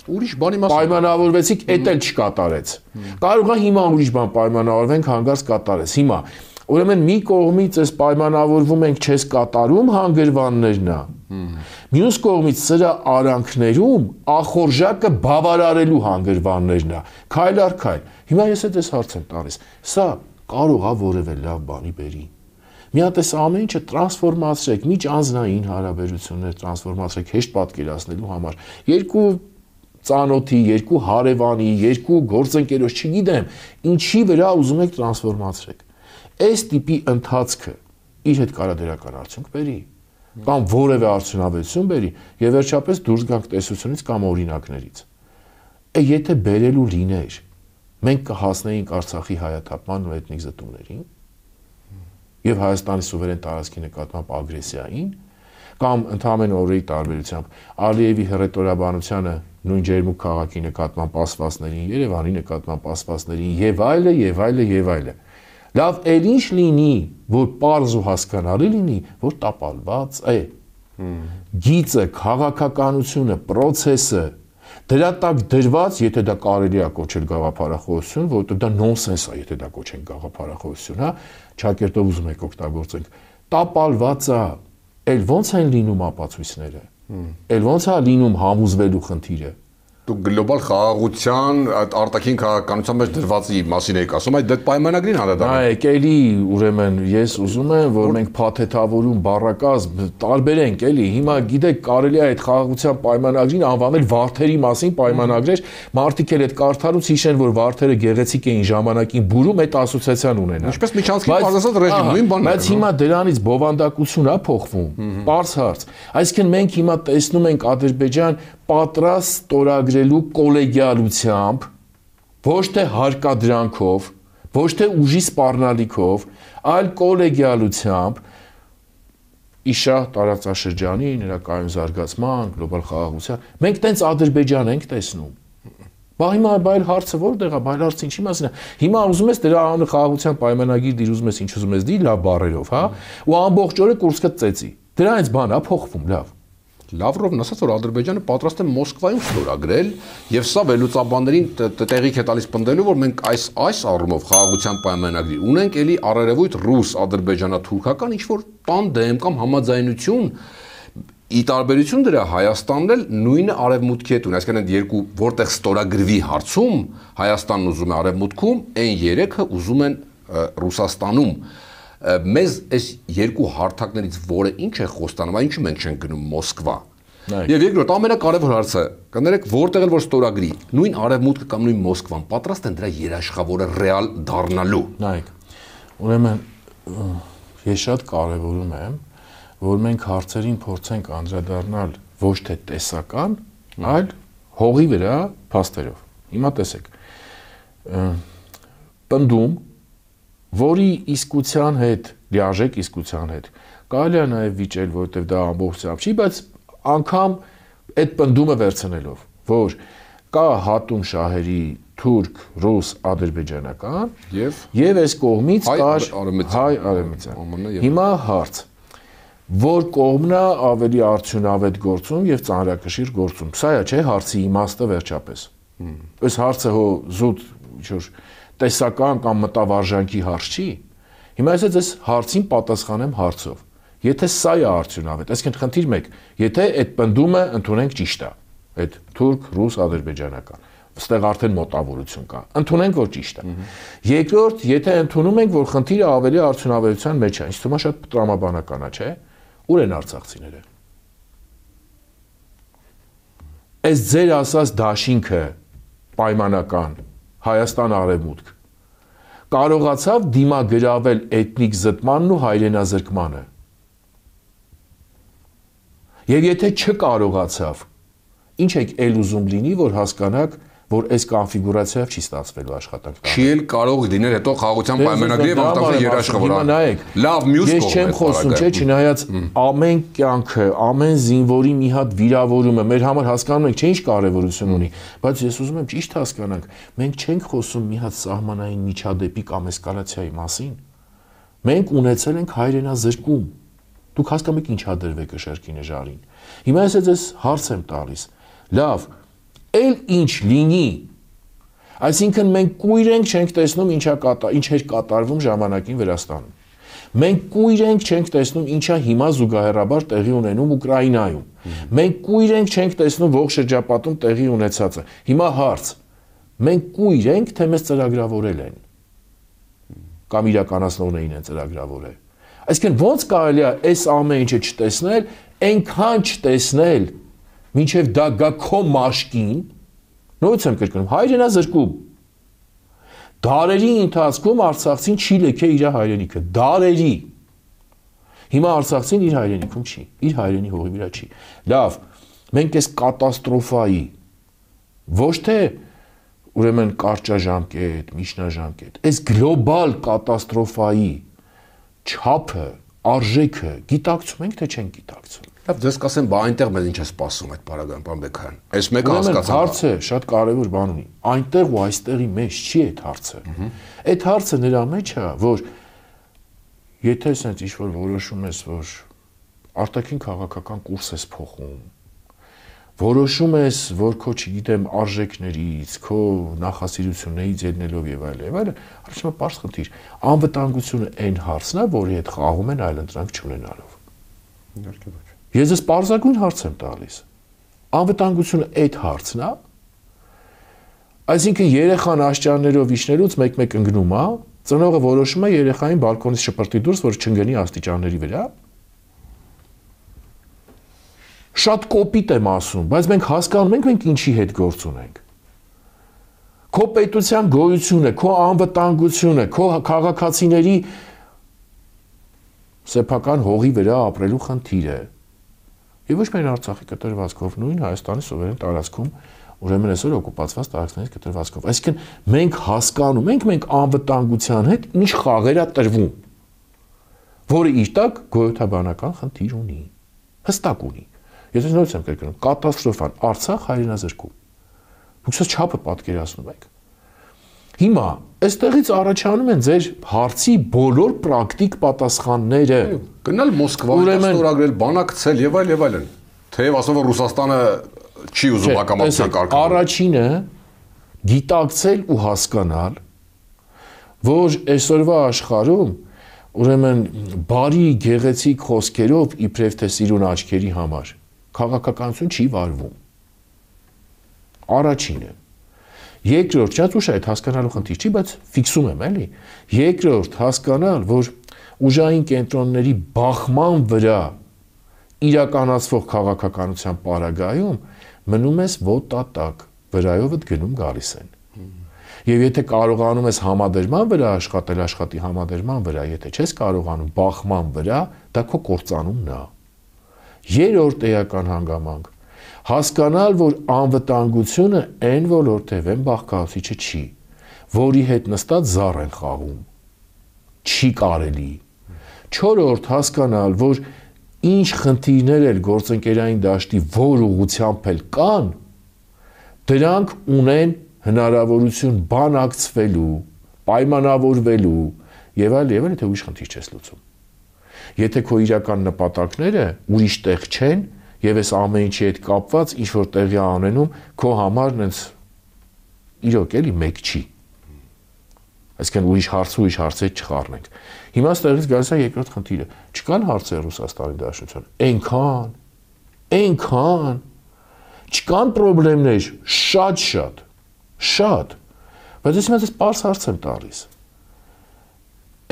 Ուրիշ բանի մասին պայմանավորվեցիք, էդ էլ չկատարեց։ Կարող է հիմա ուրիշ բան պայմանավորվենք, հանգարց կատարես։ Հիմա, ուրեմն մի կողմից էս պայմանավորվում ենք չես կատարում հանգրվաններն է։ Մյուս կողմից սրա արանքներում ախորժակը բավարարելու հանգրվաններն է։ Քայլ առ քայլ։ Հիմա ես այդ հարց եմ տալիս։ Սա կարող է որևէ լավ բանի բերի։ Մի հատ էս ամեն ինչը տրանսֆորմացրեք, միջանձնային հարաբերություններ տրանսֆորմացրեք հեշտ պատկերացնելու համար։ Երկու ծանոթի, երկու հարևանի, երկու գործընկերոջ, չգիտեմ, ինչի վրա ուզում եք տրանսֆորմացրեք։ Այս տիպի ընթացքը իր հետ կարա դրական արդյունք բերի, կամ որևէ արդյունավետություն բերի, եւ վերջապես դուրս գանք տեսությունից կամ օրինակներից։ Եթե բերելու լիներ, մենք կհասնեինք Արցախի հայաթափման ու էթնիկ զտումներին եւ Հայաստանի սուվերեն տարածքի նկատմամբ ագրեսիային, կամ ընդհանրեն օրերի տարբերությամբ Ալիևի հռետորաբանությանը նույն ջերմուկ քաղաքի նկատմամբ ասվածներին, Երևանի նկատմամբ ասվածներին եւ այլը եւ այլը եւ այլը։ Լավ, էլ ինչ լինի, որ պարզ ու հասկանալի լինի, որ տապալված է։ Գիծը, քաղաքականությունը, process-ը դրա տակ դրված, եթե դա կարելի է կոչել գաղափարախոսություն, որովհետեւ դա նոնսենս է, եթե դա կոչենք գաղափարախոսություն, հա, ճակերտով ուզում եք օգտագործենք, տապալված է, էլ ոնց են լինում ապացույցները, էլ ոնց է լինում համոզվելու խնդիրը։ Դու գլոբալ խաղաղության արտաքին քաղաքականության մեջ դրվածի մասին եք ասում, այդ դեպ պայմանագրին անդրադառնալու։ Նայեք, էլի ուրեմն ես ուզում եմ, որ մենք փաթեթավորում բառակազմ տարբերենք, էլի։ Հիմա գիտեք, կարելի է այդ խաղաղության պայմանագրին անվանել վարդերի մասին պայմանագրեր, մարդիկ էլ այդ կարդալուց հիշեն, որ վարդերը գեղեցիկ էին ժամանակին բուրում, այդ ասոցիացիան ունենան։ Ինչպես միջանցքի բարձրացած ռեժիմ, նույն բանն է։ Բայց հիմա դրանից բովանդակություն է փոխվում, բարձ հարց։ Այսինքն մենք հիմա տեսնում ենք Ադրբեջան պատրաստ ստորագրելու կոլեգիալությամբ, ոչ թե հարկադրանքով, ոչ թե ուժի սպառնալիքով, այլ կոլեգիալությամբ իշա տարածաշրջանի նրա կայուն զարգացման, գլոբալ խաղաղության։ Մենք տենց Ադրբեջան ենք տեսնում։ Բա հիմա բայլ հարցը որտեղ է, բայլ հարցը ինչի մասին է։ Հիմա ուզում ես դրա անունը խաղաղության պայմանագիր դիր, ուզում ես ինչ ուզում ես դի, լավ բառերով, հա, ու ամբողջ օրը Կուրսկը ծեծի։ Դրանից բան է փոխվում, լավ։ Լավրովն ասաց, որ Ադրբեջանը պատրաստ է Մոսկվայում ստորագրել, եւ սա վերլուծաբաններին տեղիք է տալիս պնդելու, որ մենք այս առումով խաղաղության պայմանագրի ունենք էլի առերևույթ ռուս-ադրբեջանա-թուրքական ինչ-որ տանդեմ կամ համաձայնություն, ի տարբերություն դրա Հայաստանն էլ նույնը արևմուտքի հետ ունի, այսինքն այդ երկու որտեղ ստորագրվի հարցում Հայաստանն ուզում է արևմուտքում, այն երեքը ուզում են Ռուսաստանում։ Մեզ այս երկու հարթակներից որը ինչ է խոստանում, այնու մենք չենք գնում Մոսկվա։ Եվ երկրորդ ամենակարևոր հարցը, կներեք, որտեղ էլ որ ստորագրի, նույն արևմուտքը կամ նույն Մոսկվան պատրաստ են դրա երաշխավորը ռեալ դառնալու։ Նայեք, ուրեմն ես շատ կարևորում եմ, որ մենք հարցերին փորձենք անդրադառնալ ոչ թե տեսական, այլ հողի վրա փաստերով։ Հիմա տեսեք, պնդում, որի իսկության հետ, լիարժեք իսկության հետ, կարելի է նաև վիճել, որովհետև դա ամբողջությամբ չի, բայց անգամ այդ պնդումը վերցնելով, որ կա հատում շահերի թուրք, ռուս, ադրբեջանական եւ այս կողմից կար հայ արևմտյան։ Հիմա հարց, որ կողմն է ավելի արդյունավետ գործում եւ ծանրակշիռ գործում։ Սա է, չէ, հարցի իմաստը վերջապես։ Այս հարցը հո զուտ ինչ-որ տեսական կամ մտավարժանքի հարց չի։ Հիմա ես այս հարցին պատասխանեմ հարցով։ Եթե սա է արդյունավետ, այսինքն խնդիր 1, եթե այդ պնդումը ընդունենք ճիշտ է, այդ թուրք, ռուս, ադրբեջանական, այստեղ արդեն մոտավորություն կա։ Ընդունենք, որ ճիշտ է։ Երկրորդ, եթե ընդունում ենք, որ խնդիրը ավելի արդյունավետության մեջ է, ինձ թվում է շատ տրամաբանական է, չէ՞։ Ուր են արցախցիները։ Այս ձեր ասած դաշինքը պայմանական Հայաստան արևմուտք կարողացավ դիմագրավել էթնիկ զտմանն ու հայրենազրկմանը։ Եվ եթե չկարողացավ, Ինչ եք ել ուզում լինի, որ հասկանաք, որ այս կոնֆիգուրացիայով չի ստացվելու աշխատանք։ Չի էլ կարող լինել հետո խաղաղության պայմանագրի եւ անվտանգության երաշխավորը։ Լավ, մյուս կողմը։ Ես չեմ խոսում, չէ, չնայած ամեն կյանքը, ամեն զինվորի մի հատ վիրավորումը մեր համար հասկանում եք, չէ, ինչ կարեւորություն ունի, բայց ես ուզում եմ ճիշտ հասկանանք, մենք չենք խոսում մի հատ սահմանային միջադեպի կամ էսկալացիայի մասին։ Մենք ունեցել ենք հայրենազրկում։ Դուք հասկանում եք ինչ հադրվեք Շերկինե Ժարին։ Հիմա ես ձեզ հարց եմ տալիս։ Լավ, էլ ինչ լինի, այսինքն մենք կույր ենք չենք տեսնում ինչ էր կատարվում ժամանակին Վրաստանում։ Մենք կույր ենք չենք տեսնում ինչա հիմա զուգահեռաբար տեղի ունենում Ուկրաինայում։ Մենք կույր ենք չենք տեսնում ողջ շրջապատում տեղի ունեցածը։ Հիմա հարց. մենք կույր ենք, թե մեզ ծրագրավորել են կամ իրականացնողներին են ծրագրավորել։ Այսինքն ո՞նց կարելի է այս ամեն ինչը չտեսնել, այնքան չտեսնել, մինչև դա գա քո մաշկին, նույնիսկ եմ կրկնում, հայրենազրկում։ Դարերի ընթացքում արցախցին չի լքել իր հայրենիքը, դարերի։ Հիմա արցախցին իր հայրենիքում չի, իր հայրենի հողի վրա չի։ Լավ, մենք այս կատաստրոֆայի ոչ թե ուրեմն կարճաժամկետ, միջնաժամկետ, այս գլոբալ կատաստրոֆայի չափը, արժեքը գիտակցում ենք, թե չենք գիտակցում։ Լավ, դες կասեմ, բա այնտեղ մեզ ինչ է սպասում այդ բարագան պարոն Բեքյան։ Այս մեկը հասկացա։ Հարցը շատ կարևոր բան ունի։ Այնտեղ ու այստեղի մեջ չի այդ հարցը։ Այդ հարցը նրա մեջ է, որ եթե ասենց ինչ-որ որոշում ես, որ արտաքին քաղաքական կուրս ես փոխում, որոշում ես, որ քո, չգիտեմ, արժեքներից, քո նախասիրություններից ելնելով եւ այլն, առաջինը պարզ խնդիր։ Անվտանգությունը այն հարցն է, որի հետ խաղում են այլընտրանք չունենալով։ Իհարկե ոչ։ Ես ես պարզագույն հարց եմ տալիս։ Անվտանգությունը այդ հարցն է։ Այսինքն երեխան աշճաններով իջնելուց մեկ-մեկ ընկնում է, ծնողը որոշում է երեխային բալկոնից շպրտի դուրս, որ չընկնի աստիճանների վրա։ Շատ կոպիտ եմ ասում, բայց մենք հասկանում ենք, մենք ինչի հետ գործ ունենք։ Քո պետության գոյությունը, քո անվտանգությունը, քո քաղաքացիների սեփական հողի վրա ապրելու խնդիրը։ Եվ ոչ միայն Արցախի կտրվածքով, նույն Հայաստանի սուվերեն տարածքում, ուրեմն այսօր օկուպացված տարածքներից կտրվածքով։ Այսինքն մենք հասկանում ենք, մենք անվտանգության հետ ինչ խաղեր է տրվում, որը իր տակ գոյութաբանական խնդիր ունի, հստակ ունի։ Ես նույնպես եմ կրկնում, կատաստրոֆան, Արցախ հայրենազրկում։ Դուք սա չափը պատկերացնում եք։ Հիմա այստեղից առաջանում են ձեր հարցի բոլոր պրակտիկ պատասխանները։ Գնալ Մոսկվա, ստորագրել, բանակցել եւ այլ եւ այլն։ Թեև ասում որ Ռուսաստանը չի ուզում հակամարտության կարգավորել։ Առաջինը գիտակցել ու հասկանալ, որ այսօրվա աշխարհում ուրեմն բարի գեղեցիկ խոսքերով իբրև թե սիրուն աչքերի համար քաղաքականություն չի վարվում։ Առաջինը։ Երկրորդ, շատ ուշ է այդ հասկանալու խնդիր չի, բայց ֆիքսում եմ, էլի։ Երկրորդ, հասկանալ, որ ուժային կենտրոնների բախման վրա իրականացվող քաղաքականության պարագայում մնում ես ոտատակ, վրայովդ գնում գալիս են։ Եվ եթե կարողանում ես համադրման վրա աշխատել, աշխատի համադրման վրա, եթե չես կարողանում բախման վրա, դա քո կործանումն է։ Երրորդ էական հանգամանք հասկանալ, որ անվտանգությունը այն ոլորտև են բաղկացուցիչը չի, որի հետ նստած զառ են խաղում։ Չի կարելի։ Չորրորդ հասկանալ, որ ինչ խնդիրներ էլ գործընկերային դաշտի որ ուղղությամբ էլ կան, դրանք ունեն հնարավորություն բանակցվելու, պայմանավորվելու եւ այլ, եթե ուրիշ խնդիր չես լուծում։ Եթե քո իրական նպատակները ուրիշ տեղ չեն, եւ այս ամեն ինչի հետ կապված ինչ որ տեղի անենում քո համար նենց իրոք էլի մեկ չի։ Այսինքն ուրիշ հարցեր չխառնենք։ Հիմա ստեղից գալիս է երկրորդ խնդիրը։ Չկան հարցեր Ռուսաստանի Դաշնության։ Այնքան չկան խնդիրներ, շատ։ Բայց ես հիմա պարզ հարց եմ տալիս։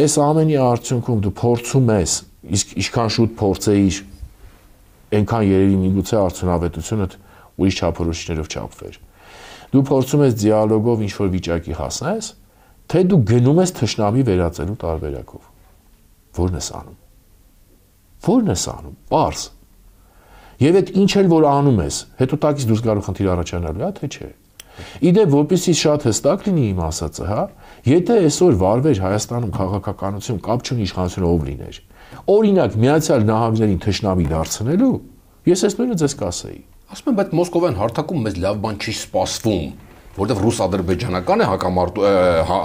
Այս ամենի արդյունքում դու փորձում ես, իսկ ինչքան շուտ փորձեիր, այնքան երևի միգուցե արդյունավետությունը ուրիշ չափորոշիչներով չափվեր։ Դու փորձում ես դիալոգով ինչ-որ վիճակի հասնես, թե դու գնում ես թշնամի վերածելու տարբերակով։ Որն ես անում։ Պարզ։ Եվ այդ ինչ էլ որ անում ես, հետո տակից դուրս գալու խնդիր առաջանալու է, թե չէ։ Իդեպ որպեսզի շատ հստակ լինի իմ ասածը, հա, եթե այսօր վարվեր Հայաստանում քաղաքականություն կապ չունի իշխանությունը ով լիներ, օրինակ Միացյալ Նահանգներին թշնամի դարձնելու, ես այս նույնը ձեզ կասեի։ Ասում եմ, բայց Մոսկովյան հարթակում մեզ լավ բան չի սպասվում, որտեղ ռուս-ադրբեջանական է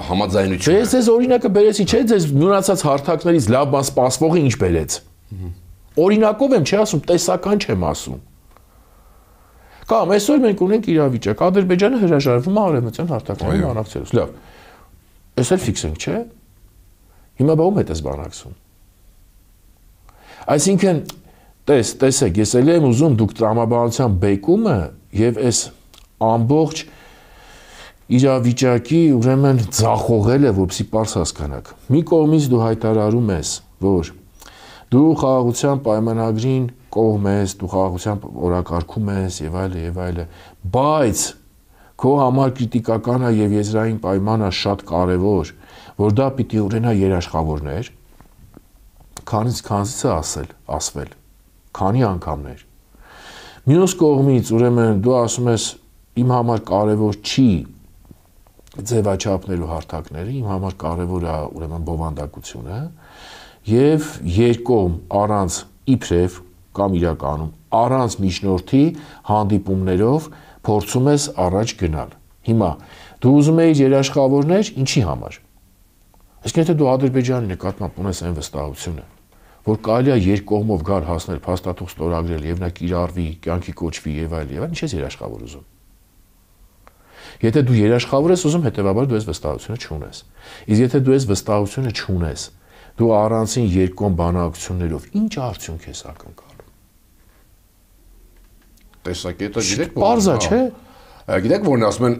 համաձայնությունը։ Ես ձեզ օրինակը բերեցի, չէ՞, ձեզ մնացած հարթակներից լավ բան սպասվողը ինչ բերեց։ Օրինակով եմ, չի ասում, տեսական չեմ ասում։ Կամ այսօր մենք ունենք իրավիճակ, Ադրբեջանը հրաժարվում է արևմտյան հարթակներին բանակցելուց։ Լավ։ Էս էլ ֆիքս ենք, չէ՞։ Հիմա բա ում հետ ես բանակցում։ Այսինքն, տեսեք, ես էլ եմ ուզում դուք տրամաբանության բեկումը եւ այս ամբողջ իրավիճակի ուրեմն ձախողելը, որպեսզի པարզ հասկանաք։ Մի կողմից դու հայտարարում ես, որ դու խաղաղության պայմանագրին կողմ ես, դու խաղաղության օրակարգում ես եւ այլը, բայց քո համար կրիտիկական է եւ եզրային պայմանը շատ կարեւոր, որ դա պիտի ունենա երաշխավորներ, քանից ասվել, քանի անգամներ։ Մյուս կողմից ուրեմն դու ասում ես իմ համար կարեւոր չի ձևաչափներու հարթակները, իմ համար կարևոր է ուրեմն բովանդակությունը եւ երկում առանց իբրև կամ իրականում առանց միջնորդի հանդիպումներով փորձում ես առաջ գնալ։ Հիմա դու ուզում ես երաշխավորներ ինչի համար։ Իսկ եթե դու Ադրբեջանի նկատմամբ ունես այն վստահությունը, որ կարելի է երկկողմով գալ հասնել փաստաթուղթ ստորագրել եւ նա կիրառվի, կյանքի կոչվի եւ այլ, ինչ ես երաշխավոր ուզում։ Եթե դու երաշխավոր ես ուզում, հետեւաբար դու այս վստահությունը չունես։ Իսկ եթե դու այս վստահությունը չունես, դու առանցին երկկողմ բանակցություններով ինչ արդյունք ես ակնկալում։ Տեսակետը գիտեք, պարզ է, չէ՞։ Գիտեք, որն ասում են,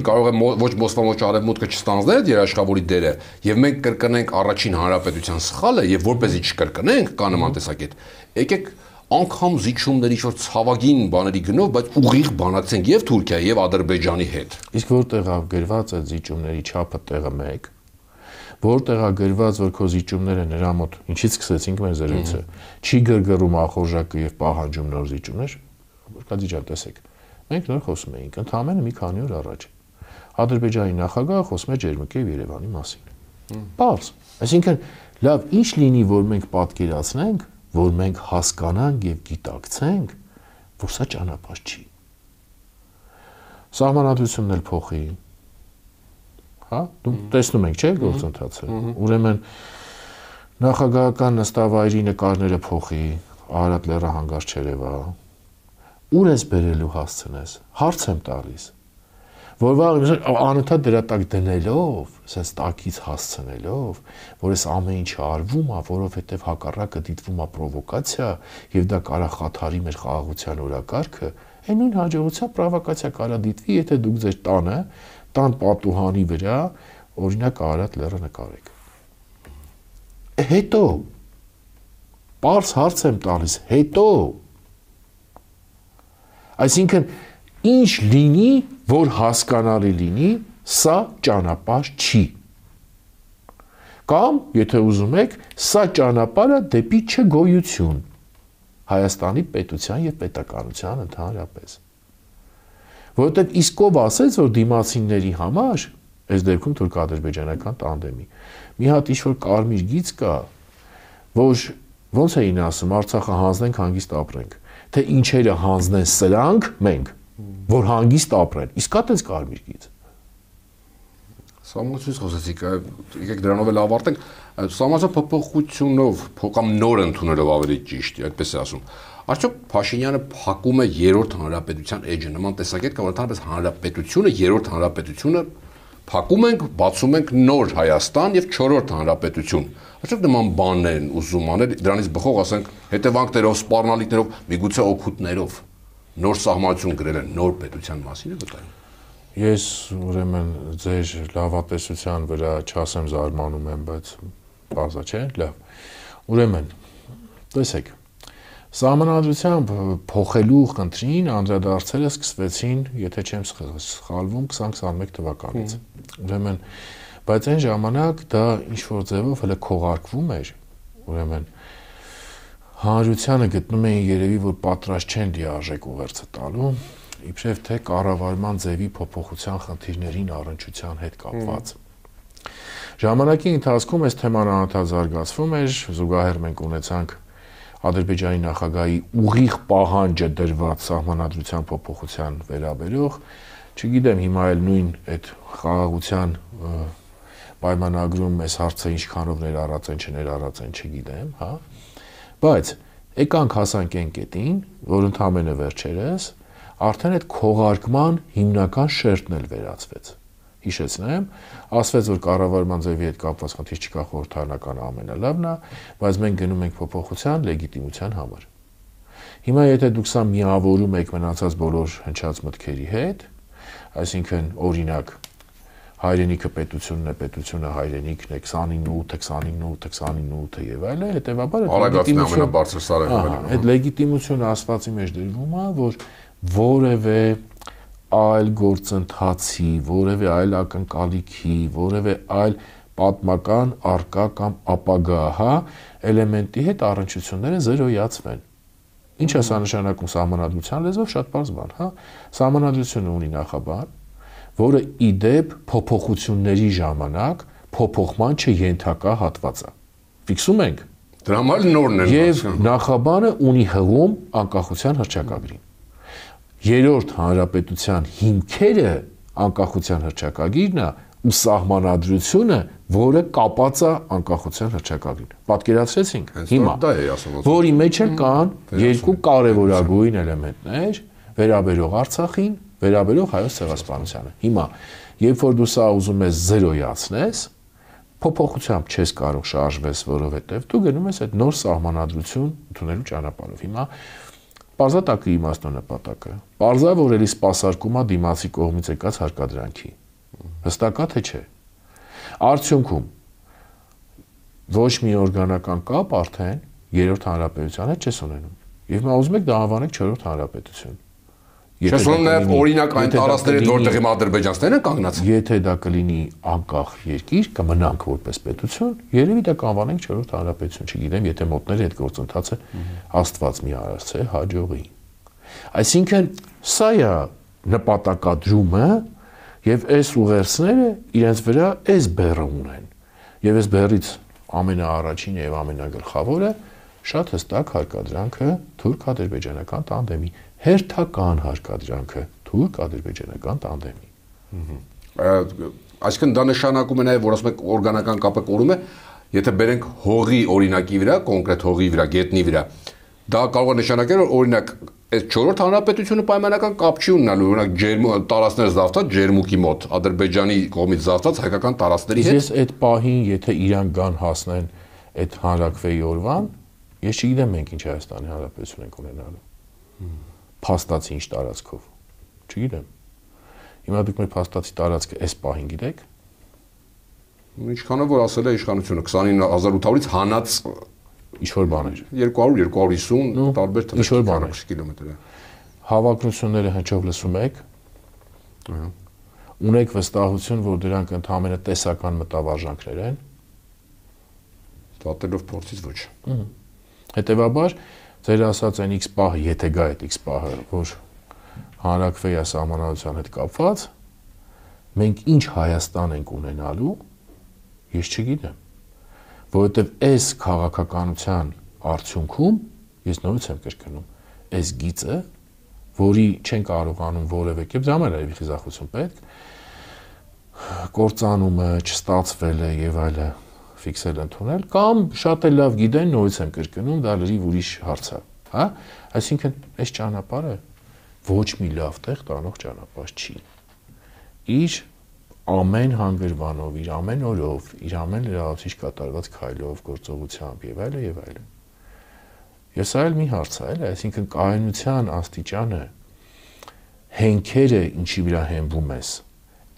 կարող է ոչ Մոսկվան, ոչ Արևմուտքը չստանձնել այդ երաշխավորի դերը, եւ մենք կրկնենք առաջին հանրապետության սխալը, եւ որպեսզի չկրկնենք, կա նման տեսակետ։ Եկեք անգամ զիջումների ինչ-որ ցավագին բաների գնով, բայց ուղիղ բանակցենք եւ Թուրքիայի եւ Ադրբեջանի հետ։ Իսկ որտեղ է գրված այդ զիջումների չափը տեղը 1, որտեղ է գրված, որ քո զիջումները նրա մոտ ինչից սկսեցինք մեր զրույցը, չի գրգռում ախորժակը եւ պահանջում նոր զիջումներ, կա դիջա տեսեք։ Մենք նոր խոսում էինք, ընդհանրապես մի քանի օր առաջ։ Ադրբեջանի նախագահը խոսում է Ջերմուկի եւ Երևանի մասին։ Պարզ։ Այսինքն, լավ, ինչ լինի, որ մենք պատկերացնենք, որ մենք հասկանանք եւ գիտակցենք, որ սա ճանապարհ չի։ Սահմանադրությունն էլ փոխի։ Հա, դու տեսնում ենք, չէ՞, գործընթացը։ Ուրեմն նախագահական նստավայրի նկարները փոխի, Արարատ լեռը հանգարց չերևա։ Ուր ես բերելու հասցնես, հարց եմ տալիս, որ վաղ անընդհատ դրա տակ դնելով, ասես տակից հասցնելով, որ այս ամեն ինչը արվում է, որովհետև հակառակը դիտվում է պրովոկացիա եւ դա կարա խաթարի մեր խաղաղության օրակարգը, այն նույն հաջողության պրովոկացիա կարա դիտվի, եթե դուք ձեր տան պատուհանի վրա օրինակ Արարատ լեռը նկարեք։ Հետո պարզ հարց եմ տալիս, հետո Այսինքն, ինչ լինի, որ հասկանալի լինի, սա ճանապարհ չի։ Կամ, եթե ուզում եք, սա ճանապարհը դեպի չգոյություն Հայաստանի պետության եւ պետականության ընդհանրապես։ Որովհետեւ իսկ ով ասեց, որ դիմացինների համար, այս դեպքում թուրք-ադրբեջանական տանդեմի, մի հատ ինչ-որ կարմիր գիծ կա, որ ոնց էին ասում, Արցախը հանձնենք, հանգիստ ապրենք։ Թե ինչերը հանձնեն սրանք մենք, որ հանգիստ ապրեն, իսկ այդպես կարմիր գիծ։ Սահմանությունից խոսեցիք, եկեք դրանով էլ ավարտենք, սահմանության փոփոխությունով, կամ նոր ընդունելով ավելի ճիշտ, այդպես է ասում։ Արդյոք Փաշինյանը փակում է երրորդ հանրապետության էջը, նման տեսակետ կամ ընդհանրապես հանրապետությունը, երրորդ հանրապետությունը փակում ենք, բացում ենք նոր Հայաստան եւ չորրորդ հանրապետություն։ Արդյոք նման բանն են ուզում անել, դրանից բխող ասենք հետևանքներով, սպառնալիքներով, միգուցե օգուտներով նոր սահմանություն գրել են նոր պետության մասին է վտային։ Ես ուրեմն ձեր լավատեսության վրա չասեմ զարմանում եմ, բայց բազա չէ, լավ։ Ուրեմն, տեսեք, Սահմանադրությամբ փոխելու խնդրին անդրադարձերը սկսվեցին, եթե չեմ սխալվում, 2021 թվականից։ Ուրեմն, բայց այն ժամանակ դա ինչ-որ ձևով հələ քողարկվում էր, ուրեմն հանրությանը գտնում էին երևի, որ պատրաստ չեն լիարժեք ուղերձը տալու, իբրև թե կառավարման ձևի փոփոխության խնդիրներին առնչության հետ կապված։ Ժամանակի ընթացքում այս թեման անընդհատ զարգացվում էր, զուգահեռ մենք ունեցանք Ադրբեջանի նախագահի ուղիղ պահանջը դրված սահմանադրության փոփոխության վերաբերող, չգիտեմ հիմա էլ նույն այդ խաղաղության պայմանագրում այս հարցը ինչքանով ներառած են, չներառած են, չգիտեմ, հա։ Բայց եկանք հասանք այն կետին, որ ընդհանրապես վերջերս արդեն այդ քողարկման հիմնական շերտն էլ վերացվեց։ Հիշեցնեմ, ասվեց, որ կառավարման ձևի հետ կապված խնդիր չկա, խորհրդարանական ամենալավն է, բայց մենք գնում ենք փոփոխության լեգիտիմության համար։ Հիմա եթե դուք սա միավորում եք մնացած բոլոր հնչած մտքերի հետ, այսինքն օրինակ հայրենիքը պետությունն է, պետությունը հայրենիքն է, 29 եւ այլն, հետեւաբար այդ լեգիտիմությունը ասվածի մեջ դրվում է, որ որևէ այլ գործընթացի, որևէ այլ ակնկալիքի, որևէ այլ պատմական արկա կամ ապագա, հա, էլեմենտի հետ առնչությունները զերոյացվեն։ Ինչ է սա նշանակում սահմանադրության լեզվով, շատ պարզ բան, հա։ Սահմանադրությունը ունի նախաբան, որը իդեպ փոփոխությունների ժամանակ փոփոխման չենթակա հատված է։ Ֆիքսում ենք։ Դրա համար նորն են։ Եվ նախաբանը ունի հղում անկախության հռչակագրին։ Երրորդ հանրապետության հիմքերը անկախության հռչակագիրն է ու սահմանադրությունը, որը կապած է անկախության հռչակագրին։ Պատկերացրեցինք հիմա, որի մեջ էլ կան երկու կարևորագույն էլեմենտներ, վերաբերող Արցախին, վերաբերող հայոց ցեղասպանությանը։ Հիմա, երբ որ դու սա ուզում ես զերոյացնես, փոփոխությամբ չես կարող շարժվես, որովհետև դու գնում ես այդ նոր սահմանադրություն ընդունելու ճանապարհով։ Հիմա պարզատակի իմաստո նպատակը։ Պարզա, որ էլի սպասարկում է դիմացի կողմից եկած հարկադրանքի։ Հստակա թե չէ։ Արդյունքում ոչ մի օրգանական կապ արդեն երրորդ հանրապետության հետ չես ունենում։ Եվ մենք ուզում ենք դա անվանենք չորրորդ հանրապետություն։ Չես ունում նաև օրինակ այն տարածքները, որտեղ հիմա ադրբեջանցիներն են կանգնած։ Եթե դա կլինի անկախ երկիր, կմնանք որպես պետություն, երևի դա կանվանենք չորրորդ հանրապետություն, չգիտեմ, եթե մոտների այդ գործընթացը Աստված մի արարցե հաջողի։ Այսինքն սա է նպատակադրումը եւ այս ուղերձները իրենց վրա այս բեռը ունեն։ Եվ այս բեռից ամենաառաջինը եւ ամենագլխավորը շատ հստակ հարկադրանքը թուրք-ադրբեջանական տանդեմի, հերթական հարկադրանքը թուրք-ադրբեջանական տանդեմի։ Այսինքն դա նշանակում է նաև, որ ասում եք օրգանական կապը կորում է, եթե բերենք հողի օրինակի վրա, կոնկրետ հողի վրա, գետնի վրա, դա կարող է նշանակել, որ օրինակ այս չորրորդ հանրապետությունը պայմանական կապ չի ունենալու, օրինակ տարածքներ զավթած ջերմուկի մոտ, Ադրբեջանի կողմից զավթած հայկական տարածքների հետ։ Ես այդ պահին, եթե իրանք գան հասնեն այդ հանրակրվեի օրվան, ես չգիտեմ մենք ինչ Հայաստանի Հանրապետություն ենք ունենալու։ Փաստացի ինչ տարածքով։ Չգիտեմ։ Հիմա դուք մեր փաստացի տարածքը այս պահին գիտեք։ Ինչքանով որ ասել է իշխանությունը 29800-ից հանած ինչ-որ բաներ։ 200-250 տարբեր թվեր կիլոմետր։ Հավակնությունները հնչով լսում եք։ Ունեք վստահություն, որ դրանք ընդհանրապես տեսական մտավարժանքներ են։ Դատելով փորձից ոչ։ Հետևաբար ձեր ասած այն X պահը, եթե գա այդ X պահը, որ հանրակրվեի սահմանադրության հետ կապված, մենք ինչ Հայաստան ենք ունենալու, ես չգիտեմ, որովհետև այս քաղաքականության արդյունքում ես նորից եմ կրկնում, այս գիծը, որի չեն կարողանում որևէ կերպ, դա մեր այլ խիզախություն պետք, կործանումը չստացվել է եւ այլը ֆիքսել ընդունել, կամ շատ էլ լավ գիտեն, նորից եմ կրկնում, դա լրիվ ուրիշ հարց է, հա? Այսինքն, այս ճանապարհը ոչ մի լավ տեղ տանող ճանապարհ չի։ Իր ամեն հանգրվանով, իր ամեն օրով, իր ամեն լրացուցիչ կատարված քայլով, գործողությամբ եւ այլն եւ այլն։ Եվ սա էլ մի հարց է, այլ, այսինքն կայունության աստիճանը հենքերը ինչի վրա հենվում ես,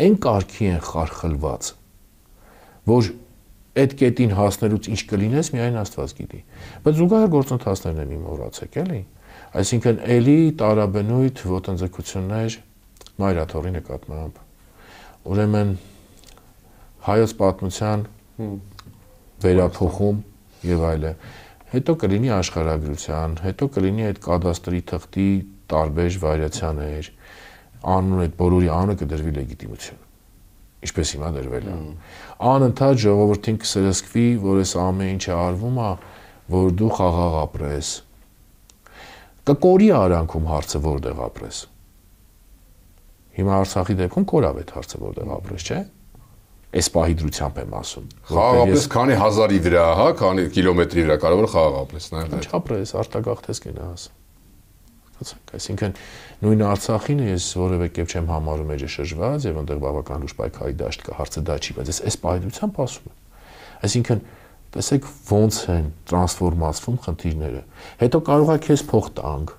այն կարգի են խարխլված, որ այդ կետին հասնելուց ինչ կլինես, միայն Աստված գիտի։ Բայց զուգահեռ գործընթացներն եմ մոռացեք, էլի։ Այսինքն էլի տարաբնույթ ոտնձգություններ մայրաթորի նկատմամբ։ Ուրեմն հայոց պատմության վերափոխում եւ այլն։ հետո կլինի աշխարհագրության, հետո կլինի այդ կադաստրի թղթի տարբեր վարիացիաներ, անունը այդ բոլորի անունը կդրվի լեգիտիմություն։ Ինչպես հիմա դրվել է։ Անընդհատ ժողովրդին կսրսկվի, որ այս ամեն ինչը արվում է, որ դու խաղաղ ապրես։ Կկորի արանքում հարցը որտեղ ապրես։ Հիմա Արցախի դեպքում կորավ այդ հարցը որտեղ ապրես, չէ՞։ Այս պահի դրությամբ եմ ասում։ Խաղաղապես քանի հազարի վրա, հա, քանի կիլոմետրի վրա կարող է խաղաղ ապրես, նաև։ Ինչ ապրես, արտագաղթես գնաս։ Այսինքն նույն Արցախին ես որևէ կերպ չեմ համարում էջը շրջված եւ այնտեղ բավական լուրջ պայքարի դաշտ կա, հարցը դա չի, բայց այս պահեդությամբ ասում եմ։ Այսինքն տեսեք ոնց են տրանսֆորմացվում խնդիրները։ Հետո կարող է քեզ փող տանք։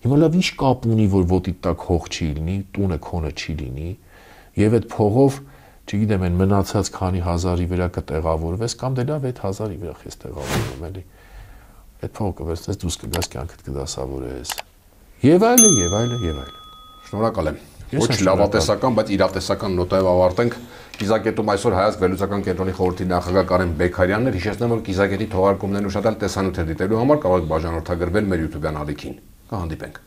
Հիմա լավ ինչ կապ ունի, որ ոտի տակ հող չի լինի, տունը քոնը չի լինի, եւ այդ փողով, չգիտեմ, այն մնացած քանի հազարի վրա կտեղավորվես կամ դե լավ 8000-ի վրա քեզ տեղավորվում էլի։ Այդ փողը կվերցնես դուրս կգաս կյանքդ կդասավորես։ Եվ այլն, եւ այլն, եւ այլն։ Շնորհակալ եմ։ Ոչ լավատեսական, բայց իրատեսական նոտայով ավարտենք։ Կիզակետում այսօր Հայացք վերլուծական կենտրոնի խորհրդի նախագահ Կարեն Բեկարյանն էր։ Հիշեցնեմ, որ Կիզակետի թողարկումներն ուշադրել տեսանյութեր դիտելու համար կարող եք բաժանորդագրվել մեր YouTube-յան ալիքին։ Կհանդիպենք։